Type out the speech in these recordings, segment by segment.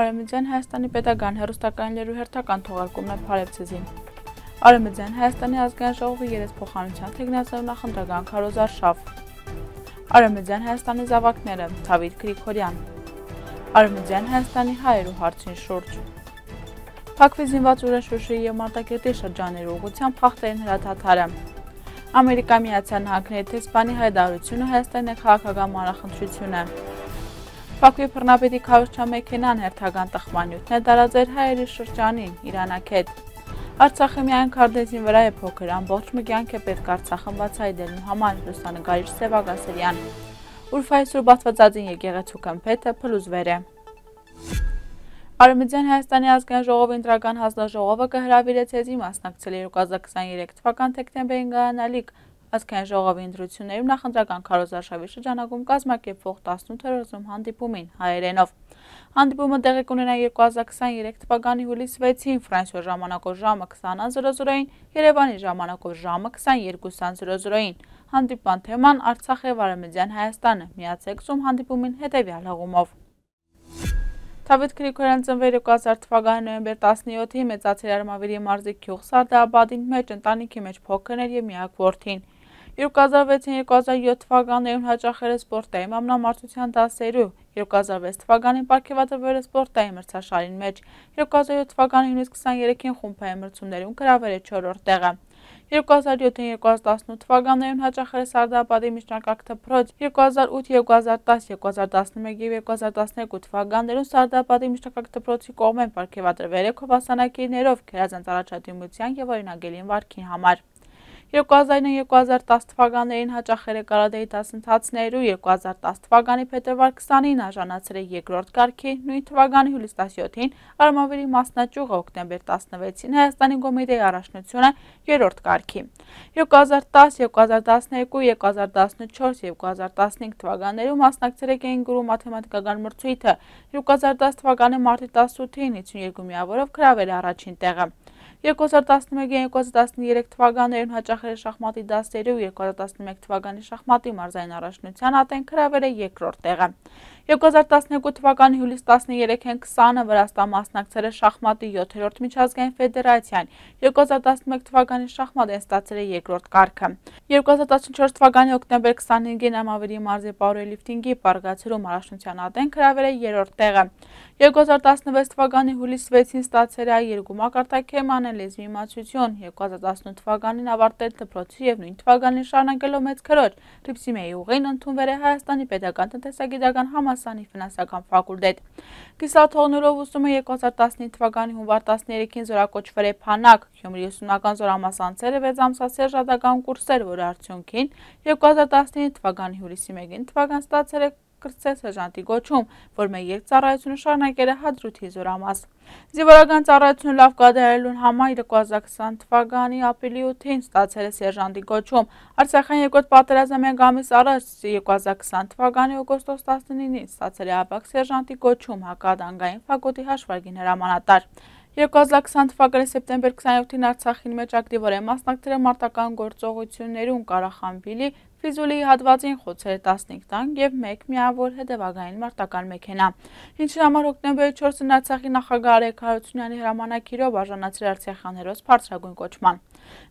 Արևմտյան Հայաստանի պետական հեռուստակայաններու հերթական թողարկումն է Փարեվցեզին։ Արևմտյան Հայաստանի ազգային ժողովի երեսփոխանության թեկնածու նախընտրական քարոզարշավ։ Արևմտյան Հայաստանի զավակները Դավիթ Գրիգորյան։ Արևմտյան Հայաստանի հայերու հարցին շուրջ։ Փակվի զինված ուժեր Շուշիի և Մարտակերտի շրջաններու ուղղությամբ խախտերին հրաթաթարը։ Ամերիկա Միացյալ Նահանգների դեսպանի հայտարարությունը Հայաստանի քաղաքական մանրախնդրությունը։ Փակվի բռնապետի քարոզչա մեքենան հերթական տխմանյութն է տարածել հայերի շրջանին Իրանակետ։ Արցախի միայն քարտեզին վրա է փոքր, ամբողջ մի կյանք է պետք Արցախը բացահայտելու համար լուսանկարիչ Սևակ Ասերյան։ Ուրֆայի Սուրբ Աստվածածին եկեղեցու քմփեթը փլուզվեր է։ Արևմտյան Հայաստանի ազգային ժողովի ընտրական հանձնաժողովը կհրավիրեց եզի մասնակցել 2023 թվական դեկտեմբերին կայանալիք ազգային ժողովի ընտրություններում նախընտրական քարոզարշավի շրջանակում կազմակերպվող 18-րդ հանդիպումին հայերենով։ Հանդիպումը տեղի կունենա 2023 թվականի հուլիսի 6-ին Ֆրանսիոյի ժամանակով ժամը 20:00-ին, Երևանի ժամանակով ժամը 22:00-ին։ Հանդիպման թեման Արցախ և Արևմտյան Հայաստանը։ Միացեք Zoom հանդիպումին հետևյալ հղումով։ Դավիթ Գրիգորյան ծնվել 2000 թվականի նոյեմբեր 17-ի մեծացել Արմավիրի մարզի գյուղ Սարդաաբադին մեջ ընտանիքի մեջ փոքրն էր և միակ որդին։ 2006-2007 թվականներին հաճախել է սպորտային մամնամարզության դասերու, 2006 թվականին պարգևատրվել է սպորտային մրցաշարին մեջ, 2007 թվականի հունիսի 23-ին խումբային մրցումներում գրավել է 4-րդ տեղը։ 2007-2018 թվականներին հաճախել է Սարդաաբադի միջնակարգ դպրոց, 2008, 2010, 2011 և 2012 թվականներում Սարդաաբադի միջնակարգ դպրոցի կողմեն պարգևատրվել է քովասանակիրներով գերազանց առաջադիմության և օրինագելին վարքի համար։ 2009-2010 թվականներին հաճախել է կարատեի դասընթացներու, 2010 թվականի փետրվար 20-ին արժանացել է երկրորդ կարգի, նույն թվականի հուլիսի 17-ին Արմավիրի մասնաճյուղը, հոկտեմբեր 16-ին Հայաստանի Կոմիտեի առաջնությունը երրորդ կարգի։ 2010, 2012, 2014 և 2015 թվականներում մասնակցել է կենգուրու մաթեմատիկական մրցույթը, 2010 թվականի մարտի 18-ին 52 միավորով գրավել է առաջին տեղը։ 2011-2013 թվականներում հաճախել է շախմատի դասերու, 2011 թվականի շախմատի մարզային առաջնության ատեն գրավել է երկրորդ տեղը։ 2012 թվականի հուլիսի 13-ին 20-ը Վրաստան մասնակցել է շախմատի 7-րդ միջազգային ֆեդերացիան, 2011 թվականի շախմատեն ստացել է երկրորդ կարգը։ 2014 թվականի հոկտեմբեր 25-ին Արմավիրի մարզի պաուերլիֆթինգի պարգացրում առաջնության ատեն գրավել է երրորդ տեղը։ 2016 թվականի հուլիսի 6-ին ստացել է երկու մակարդակեման լեզվի իմացություն, 2018 թվականին ավարտել դպրոցի և նույն թվականին շարունակելով մեծ քրոջ Ռիփսիմեի ուղին ընդունվել է Հայաստանի պետական տնտեսագիտական համալսարանի ֆինանսական ֆակուլտետ։ Կիսաթողնելով ուսումը 2015 թվականի հունվար 13-ին զորակոչվել է Փանակ, Գյումրի ուսումնական զորամաս անցել է 6 ամսյա սերժատական կուրսեր, որի արդյունքին 2019 թվականի հուլիսի 1-ին ստացել է կրտսեր սերժանտի գոչում, որ մեր երկծառայությունը շարունակել է Հադրութի զորամաս։ Զինվորական ծառայությունը լավ կատարելուն համար 2020 թվականի ապրիլի 8-ին ստացել է սերժանտի գոչում։ Արցախյան երկրորդ պատերազմը մեկ ամիս առաջ 2020 թվականի օգոստոս 19-ին ստացել է ապակ սերժանտի գոչում հակադանգային ֆակուլտետի հաշվարկին հրամանատար։ 2020 թվականի սեպտեմբեր 27-ին Արցախին մեջ ակտիվորեն մասնակցել է մարտական գործողություններում Ղարախանբիլի Ֆիզուլիի հատվածին խոցել է 15 տանկ և 1 միավոր հետևակային մարտական մեքենա, ինչի համար հոկտեմբերի 4-ին Արցախի նախագահ Արայք Հարությունյանի հրամանագիրով արժանացել արցախյան հերոս բարձրագույն կոչման։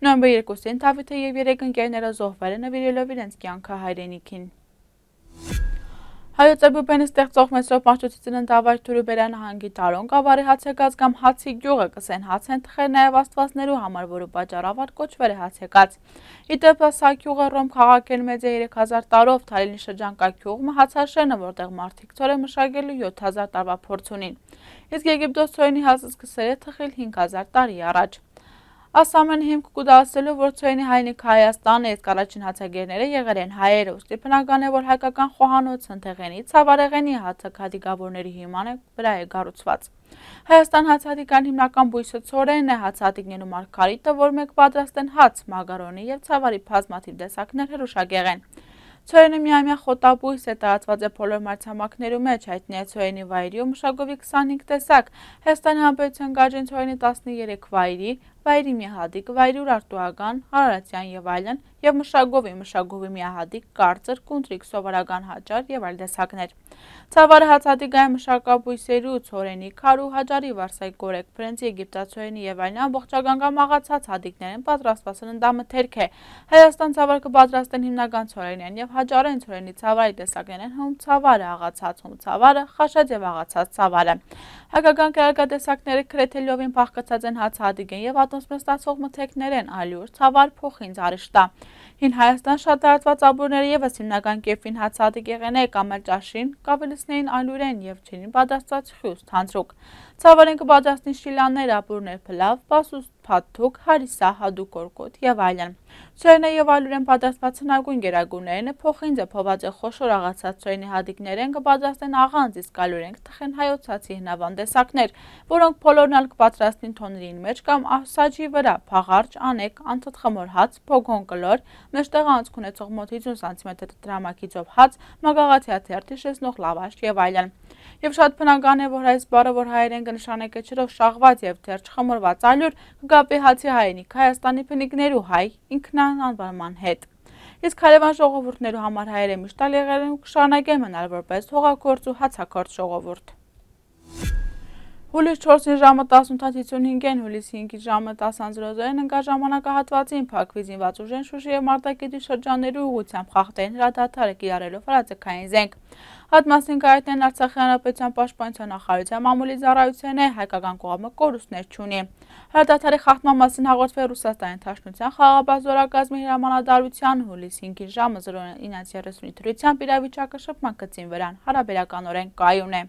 Նոյեմբեր 2-ին Դավիթը և 3 ընկերները զոհվել են նվիրելով իրենց կյանքը հայրենիքին։ Հայոց Էբուբենի ստեղծող Մեսրոպ Մաշտոցի ծննդավայր Թուրուբերյա նահանգի Տարոն գավառի հացեկաց կամ Հացի գյուղը կսեն հաց են թխել նաև աստվածներու համար, որը պատճառաբար կոչվել է հացեկաց։ Իդեպ սա գյուղը Ռոմ քաղաքել մեծ է 3000 տարով, Թալինի շրջանկա գյուղը հացաշենը, որտեղ մարդիկ ցորե մշակելու 7000 տարվա փորձ ունին։ Իսկ Եգիպտոս ցորենի հացը սկսել է թխել 5000 տարի առաջ։ Այս ամենը հիմք կուտակցելու, որ ցորենի հայրենիքը Հայաստանն է, իսկ առաջին հացագերները եղել են հայերը, ուստի բնական է, որ հայկական խոհանոց Սնթեղենի, Ցավարեղենի հացահատիկավորների հիման վրա է կառուցված։ Հայաստան հացահատիկան հիմնական բույսը ցորենն է, հացահատիկներու մարգարիտը, որ մեկ պատրաստ են հաց, մագարոնի և ցավարի բազմաթիվ տեսակներ հրուշագեղեն։ Ցորենը միամյա խոտաբույս է, տարածված է բոլոր մայրցամաքներու մեջ, հայտնի է ցորենի վայրի ու մշակովի 25 տեսակ, Հայաստանի Հանրապետության գարժին ցորենի 13 վայրի, վայրի միահադիկ, վայրի ուրարտուական, արարատյան եւ այլն, եւ մշակովի միահադիկ, կարծր, կունտրիկ, սովորական հաճար եւ այլ տեսակներ։ Ցավարը հացադիկային մշակաբույսերի ու ցորենի, քարու, հաճարի, վարսայի, կորեկ, բրենձի, եգիպտացորենի եւ այլն ամբողջական կամ աղացած հադիկներեն պատրաստված սննդամթերք է։ Հայաստան ցավարը կպատրաստեն հիմնական ցորենյան եւ հաճարեն ցորենի ցավարի տեսակներն հում ցավարը, աղացած հում ցավարը, խաշած եւ աղացած ցավարը։ Հայկական կերակատեսակները քրեթելյովին փախկացած են հացահատիկեն եւ ատմոսֆերոն ստացող մթերքներեն ալյուր, ցավար, փոխին, զարիշտա։ Հին Հայաստան շատ տարածված ապուրները եւս հիմնական կերպին հացահատիկ եղեն է կամ էլ ճաշին, կավելիսներին ալյուրեն եւ չինին պատրաստած խյուս, թանձրուկ։ Ցավարեն կպատրաստին շիլաններ, ապուրներ, փլավ, պասուս, փաթթուկ, հարիսա, հադուկ, կորկոտ եւ այլն։ Ցորենը եւ ալյուրեն պատրաստված հնագույն գերագույններն փոխինձը, փոված խոշոր աղացած ցորենի հադիկներեն կպատրաստեն աղանձ, իսկ ալյուրեն կթխեն հայոցացի հնավան տեսակներ, որոնք բոլորն կպատրաստին թոնրին մեջ կամ սաջի վրա, փաղարջ, անեկ, անթթխմոր հաց, փոգոն կլոր, մեջտեղ անցք ունեցող մոտ 50 սանտիմետր դրամակիցով հաց, մագաղաթյա թերթ, շեսնող լավաշ եւ այլն։ Եվ շատ բնական է, որ այս բառը, որ հայերեն կնշանակի կեչերով շաղված եւ թերթ խմորված ալյուր, կգապի հացի հայրենիք Հայաստանի փնիկներու հայ ինքնանվանման հետ։ Իսկ հարևան ժողովուրդներու համար հայերը միշտ եղել են ու կշարունակեն մնալ որպես հողագործ ու հացակործ ժողովուրդ։ Հուլիս 4-ին ժամը 18:55-ին, հուլիս 5-ի ժամը 10:00-ին ընկա ժամանակահատվածին փակվի զինված ուժեն Շուշի եւ Մարտակերտի շրջաններու ուղղությամբ խախտեն հրադադարը կիրառելով հրաձգային զենք։ Հատմասին կայացնեն Արցախի հանրապետության պաշտպանության նախարարության մամուլի ծառայության է, հայկական կողմը կորուստներ չունի։ Հրադադարի խախտման մասին հաղորդվել Ռուսաստանի Դաշնության խաղաղապահ զորակազմի հրամանատարության հուլիս 5-ի ժամը 09:30-ի դրությամբ իրավիճակը շփման գծին վրան հարաբերականորեն կայուն է։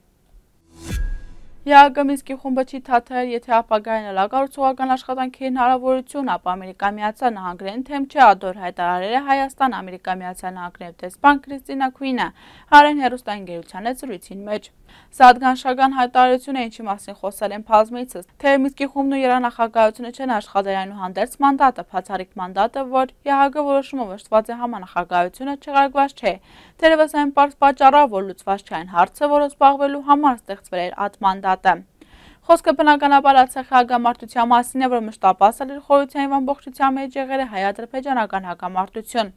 ԵԱՀԿ Մինսկի խումբը չի թաթարել, եթե ապագային լագարուցողական աշխատանքի հնարավորություն, ապա Ամերիկայի Միացյալ Նահանգներն թեմ չէ ադոր հայտարարել է Հայաստան Ամերիկայի Միացյալ Նահանգներու դեսպան Քրիստինա Քուինը հայերեն հեռուստաընկերության հետ զրույցին մեջ։ Սա ադգանշական հայտարարություն է, ինչի մասին խոսել են բազմիցս, թե Մինսկի խումբն ու երանախագահությունը չեն աշխատել այնուհանդերձ մանդատը, բացառիկ մանդատը, որ ԵԱՀԿ որոշումով ըշտված է համանախագահությունը չեղարկված չէ։ Թերևս այն պարզ պատճառով, որ լուծված չէ այն հարցը, որը զբաղվելու համար ստեղծվել էր այդ մանդատը։ Խոսքը բնականաբար Արցախի հակամարտության մասին է, որ մշտապես էր խորհրդային եւ ամբողջության մեջ եղել է հայ-ադրբեջանական հակամարտություն։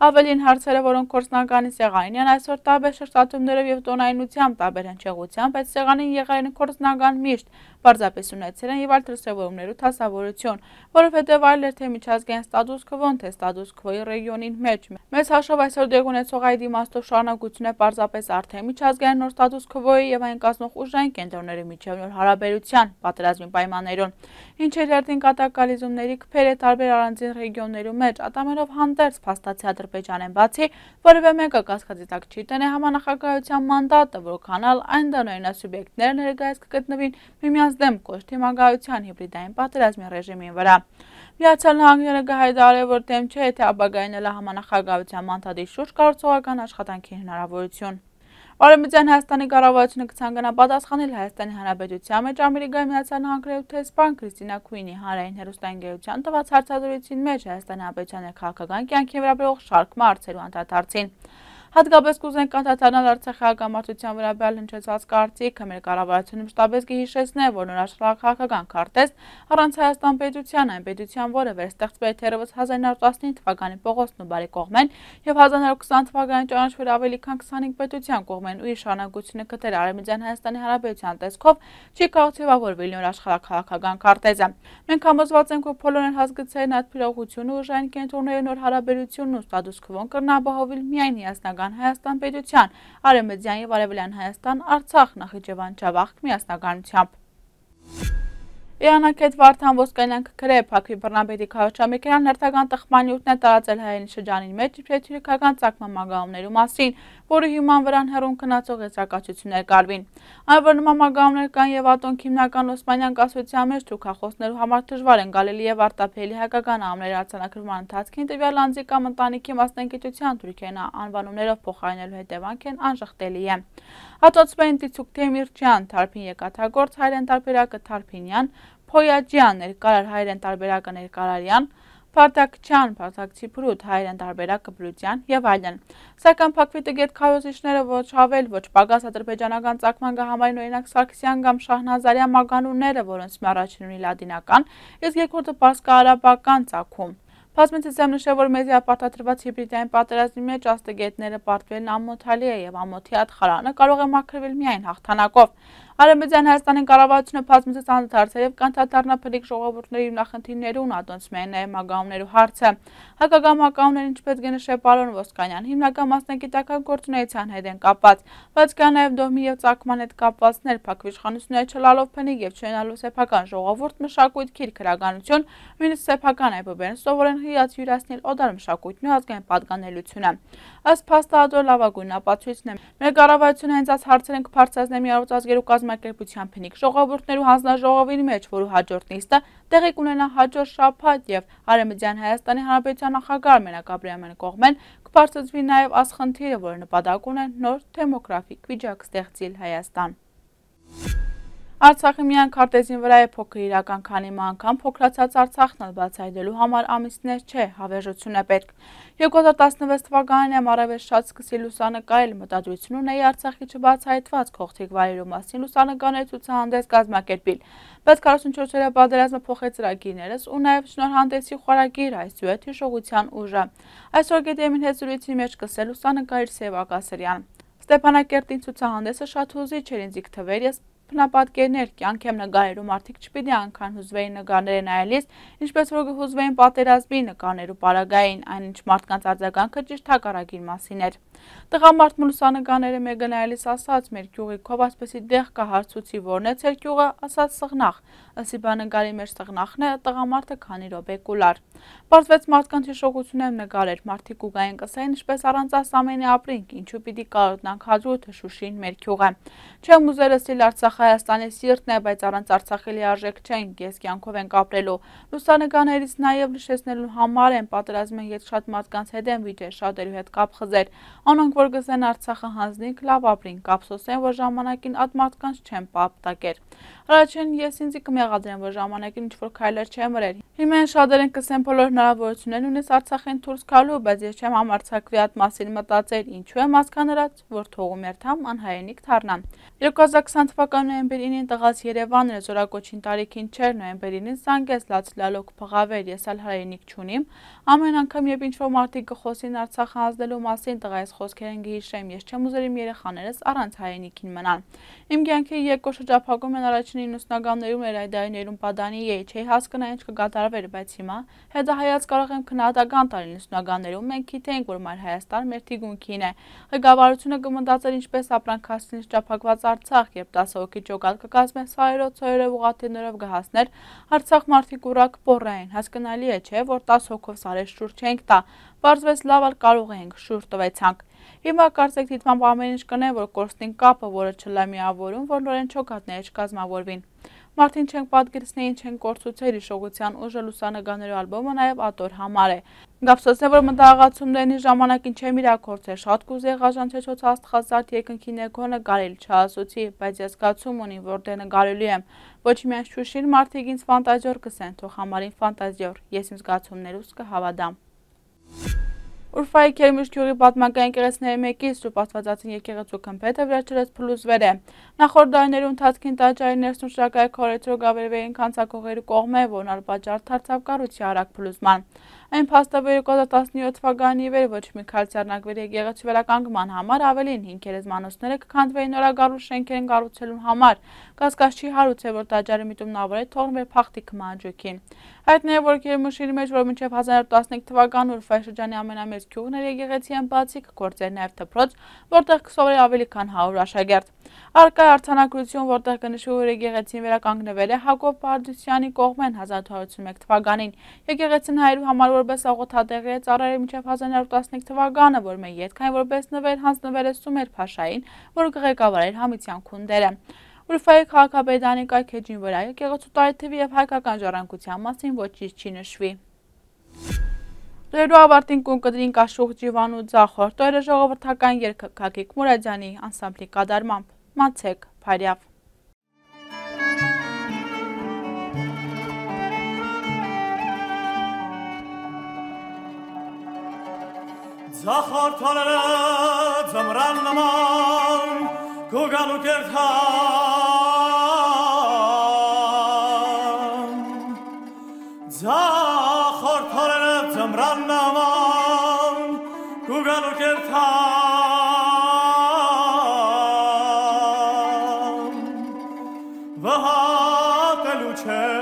Ավելին հարցերը, որոնք գործնականի սեղանին են այսօր տարբեր շրջատումներով եւ տոնայնությամբ, տարբեր հնչեղությամբ, այդ սեղանին եղել են գործնական միշտ, պարզապես ունեցել են եւ այլ դրսեւորումներու թասավորություն, որովհետեւ այլ էր թե միջազգային ստատուս քվոն, թե ստատուս քվոյի ռեգիոնին մեջ։ Մեծ հաշվով այսօր դեղ ունեցող այդ իմաստով շարունակություն է պարզապես արդեն միջազգային նոր ստատուս քվոյի եւ այն կազմող ուժային կենտրոնների միջև նոր հարաբերության, պատերազմի պայմաններուն, ինչեր հերթին կատակալիզումների քփերը տարբեր առանձին ռեգիոններու մեջ, ատամերով հանդերձ փաստացի Ադրբեջանեն բացի, որևէ մեկը կասկածի տակ չի տնե համանախագահության մանդատը, որքան էլ այն դանոյնասուբյեկտներ ներկայիս կգտնվին միմյանց դեմ կոշտ թիմագահության հիբրիդային պատերազմի ռեժիմին վրա։ Միացյալ Նահանգները կհայտարարի, որ դեմ չէ, եթե ապագային էլ համանախագահության մանդատի շուրջ կառուցողական աշխատանքի հնարավորություն։ Արևմտյան Հայաստանի կառավարությունը կցանկանա պատասխանել Հայաստանի Հանրապետության մեջ Ամերիկայի Միացյալ Նահանգներու դեսպան Քրիստինա Քուինի հանրային հեռուստաընկերության տված հարցազրույցին մեջ Հայաստանի Հանրապետության քաղաքական կյանքի վերաբերող շարք հարցերու անդրադարձին։ Հատկապես կուզենք անդրադառնալ Արցախի հակամարտության վերաբերյալ հնչեցված կարծիքը, մեր կառավարությունը մշտապես կհիշեցնե, որ նոր աշխարհաքաղաքական քարտեզ առանց Հայաստան պետության, այն պետության, որը վերստեղծվել թերևս 1915 թվականի Պողոսն ու Բարեկողմեն եւ 1920 թվականի ճանաչվել ավելի քան 25 պետության կողմեն ու իր շարունակությունը գտել Արևմտյան Հայաստանի Հանրապետության տեսքով չի կարող ձևավորվել նոր աշխարհաքաղաքական քարտեզը։ Մենք համոզված ենք, որ բոլորն հասկացել են այդ փիլողությունը ուժային կենտրոնների նոր հարաբերությունն ու ստատուս քվոն կրնաբահովել միայն միասնական Հայաստան պետության, Արևմտյան եւ Արևելյան Հայաստան, Արցախ, Նախիջևան, Ջավախք միասնականությամբ։ Իրանական Վարդան Ոսկանյան քրե Փակվի բռնապետի քաղաքամեքենան հերթական տխմանյութն է տարածել հայերեն շրջանին մեջ իբրև թուրքական ցակման մագաղումներու մասին, որը հիման վրան հեռուն քննածող եզրակացություններ կարվին։ Այն որ նման մագաղումներ կան եւ ատոնք հիմնական Օսմանյան կասության մեջ թուրքախոսներու համար դժվար են գալելի եւ արտափելի հայկական ամների արձանագրման ընթացքին տվյալ անձի կամ ընտանիքի մասնագիտության թուրքենա անվանումներով փոխարինելու հետևանքն անժխտելի է։ Հատոցվեն Տիցուկ Թեմիրճյան, Թարփին Եկաթագործ հայերեն տարբերակը Թարփինյան, Փոյաջյան ներկարար հայերեն տարբերակը Ներկարարյան, Փարթակչյան, Փարթակցի Փրուտ, Հայերեն տարբերակ Կբրուտյան եւ այլն։ Սակայն Փակվի տգետ քարոզիչները ոչ Ավել, ոչ Պագաս ադրբեջանական ծագման գահամարին օրինակ Սարգսյան կամ Շահնազարյան մագանունները, որոնց մի առաջին ունի լատինական, իսկ երկրորդը պարսկարաբական ծագում։ Բազմիցս եմ նշել, որ մեզի ապարտադրված հիբրիդային պատերազմի մեջ աստղգետները պարտվելն ամոթալի է եւ ամոթի ատխարանը կարող է մաքրվել միայն հաղթանակով։ Արևմտյան Հայաստանի կառավարությունը բազմիցս անդրադարձել եւ կանթադառնա փլիկ ժողովուրդների հիմնախնդիրներուն, ադոնց միայն նաեւ մագաղումներու հարցը։ Հակագամ մագաղումները, ինչպես գնշել պարոն Ոսկանյան, հիմնական մասնագիտական գործունեության հետ են կապված, բայց կա նաեւ դոհմի եւ ծագման հետ կապվածներ, Փակվի իշխանությունները չլալով փնիկ եւ չունենալով սեփական ժողովուրդ, մշակույթ, քիր քրագանություն, նույնիսկ սեփական այբուբերն սովորեն հիած յուրացնել օդար մշակույթն ու ազգային պատկանելությունը։ Ըստ փաստաթղթի լավագույն ապացույցն է։ Մեր կառավարությունը հենց այս հարցեր են կբարձրացնի Միավորված ազգերու կազմակերպության փնիկ ժողովուրդներու հանձնաժողովի մեջ, որու հաջորդ նիստը տեղի կունենա հաջորդ շաբաթ եւ Արևմտյան Հայաստանի Հանրապետության նախագահ Արմեն Ղաբրիամյանի կողմեն կբարձրացվի նաեւ այս խնդիրը, որը նպատակ ունի նոր դեմոգրաֆիկ վիճակ ստեղծել Հայաստան։ Արցախի միայն քարտեզին վրա է փոքր իրական, քանի անգամ փոքրացած Արցախն բացահայտելու համար ամիսներ չէ, հավերժություն է պետք։ 2016 թվականին ամառավետ շատ սկսի լուսանկարել, մտադրություն ունեի Արցախի չբացահայտված քողթիկ վայրերու մասին լուսանկարներ ցուցահանդես կազմակերպել, բայց 44-օրյա պատերազմը փոխեց ծրագիրներս ու նաև շնորհանդեսի խորագիր այս զույգ հիշողության ուժը։ Այսօր գետեմին հետ զրույցի մեջ սկսել լուսանկարիչ Սևակ Ասրյան։ Ստեփանակերտին ցուցահանդեսը շատ հուզիչ էր ինձ թվեր, ես բնապատկերներ, կյանք եմ նկարելու, մարդիկ չպիտի անգան հուզվեին նկարները նայելիս, ինչպես որ կհուզվեին պատերազմի նկարներու պարագային, այնինչ մարդկանց արձագանքը ճիշտ հակառակին մասին էր։ Տղամարդ լուսանկարները մեկը նայելիս ասաց, մեր գյուղի քով ասպեսի դեղ կա հարցուցի, որն է ձեր գյուղը, ասաց Սղնախ, ըսի բաննկարի մեջ Սղնախն է, տղամարդը քանի րոպե կուլար։ Պարզվեց մարդկանց հիշողություն եմ նկարել, մարդիկ ուգային կսային, ինչպես առանց այս ամենի ապրինք, ինչու պիտի կարոտնանք Հադրութը, Շուշին, մեր գյուղը։ Չեմ ուզել ասել Արցախ Հայաստանի սիրտն է, բայց առանց Արցախի լիարժեք չենք, ես կյանքով ենք ապրելու։ Լուսանկարներից նաև նշեցնելու համար են պատերազմի հետ շատ մարդկանց հետ են վիճել, շատերու հետ կապ խզեր, անոնք որ գսեն Արցախը հանձնիկ, լավ ապրին, կապսոսեն, որ ժամանակին այդ մարդկանց չեն պապտակեր։ Առաջին ես ինձ կմեղադրեմ, որ ժամանակին ինչ-որ քայլեր չեմ մրել։ Հիմա շատեր են կսեն բոլոր հնարավորություններն ունես Արցախեն դուրս գալու, բայց ես չեմ համարձակվի այդ մասին մտածել, ինչու եմ հասկանալած, որ թողում երթամ անհայենիք դառնամ։ 2020 թվականի նոյեմբեր 9-ին տղաց Երևանը զորակոչին տարիքին չէր, նոյեմբեր 9-ին զանգեց լացլալոք փղավեր, ես ալ հայրենիք չունիմ։ Ամեն անգամ երբ ինչ-որ մարդիկ կխոսին Արցախը հանձնելու մասին, տղայիս խոսքերեն գհիշեմ, ես չեմ ուզել իմ երեխաներս առանց հայրենիքին մնան։ Իմ կյանքի երկու շրջափակում են առաջին 90-ականներում էր այդայիներում պատանի էի, չէի հասկնա ինչ կկատարվեր, բայց հիմա հետահայաց կարող եմ քննադատական տալ 90-ականներում մենք գիտենք, որ մայր Հայաստան մեր թիկունքին է։ Ղեկավարությունը կմտածեր ինչպես ապրանք հասցնի շրջափակված Արցախ, երբ 10 հոգի ճոգալ կկազմեն սայրով, ծոյրով, ուղղաթիռներով գահասներ, Արցախ մարդիկ ուրակ պոռային, հասկանալի է, չէ, որ 10 հոգով սարեր շուր չենք տա, պարզվեց լավ ալ կարող ենք, շուր տվեցանք։ Հիմա կարծեք դիտմամբ ամեն ինչ կնեն, որ կորստին կապը, որը չլա միավորում, որ նորեն չոքատները չկազմավորվին։ Մարդին չենք պատկերացնի, ինչ են կորցուցել հիշողության ուժը լուսանկարներու ալբոմը նաև ատոր համար է։ Գապսոսն է, որ մտահղացումներն ժամանակին չեմ իրակորցել, շատ կուզեի ղաժանչեցոց աստղազարդ երկնքի ներքո նկարել, չասոցի, բայց ես զգացում ունիմ, որ դե նկարելու եմ։ Ոչ միայն Շուշին մարդիկ ինձ ֆանտազիոր կսեն, թող համարին ֆանտազիոր, ես իմ զգացումներուս կհավատամ։ Ուրֆայի Քերմիշ գյուղի պատմական եկեղեցիների մեկից շուտ աստվածածին եկեղեցու քմփեթը վերջերս փլուզվել է։ Նախորդ դարներու ընթացքին տաճարի ներսում շրջակայք քորեցրու գավերվեին քանցակողերու կողմէ, որն արբաճար դարձավ կառույցի արագ փլուզման։ Այն փաստաբեր 2017 թվականի վեր ոչ մի քայլ ձեռնարկվել եկեղեցու վերականգնման համար, ավելին 5 գերեզմանոցները կքանդվեին նորագառու շենքերին կառուցելու համար։ Կասկած չի հարուց է, որ տաճարի միտումնավորը թողնվել փախտի քմանջուկին։ Հայտնի է, որ Քերմուշի մեջ, որ մինչև 1915 թվականն Ուրֆայի շրջանի ամենամեծ գյուղն էր, եկեղեցի են բացի կգործեր նաև դպրոց, որտեղ կսովորի ավելի քան 100 աշակերտ։ Առկա արձանագրություն, որտեղ կնշվի, որ եկեղեցին վերականգնվել է Հակոբ Պարդուսյանի կողմեն 1881 թվականին։ Եկեղեցին հայերու համար որպես աղոթատեղի է ծառայել մինչև 1915 թվականը, որ մեր ետքային որպես նվեր հանձնվել է Սումեր Փաշային, որ կղեկավարեր Համիցյան քունդերը։ Ուրֆայի քաղաքապետարանի կայքեջին վրա եկեղեցու տարեթվի եւ հայկական ժառանգության մասին ոչինչ չի նշվի։ Տերու ավարտին կուն կդրին կաշուղ ջիվանու ձախորդ, տոյրը ժողովրդական երգ Գագիկ Մուրադյանի անսամբլի կատարմամբ, մացեք, Փարյավ։ Zakhortolere zamran naman Kugalu kertan Zakhortolere zamran naman Kugalu kertan Vahat eluche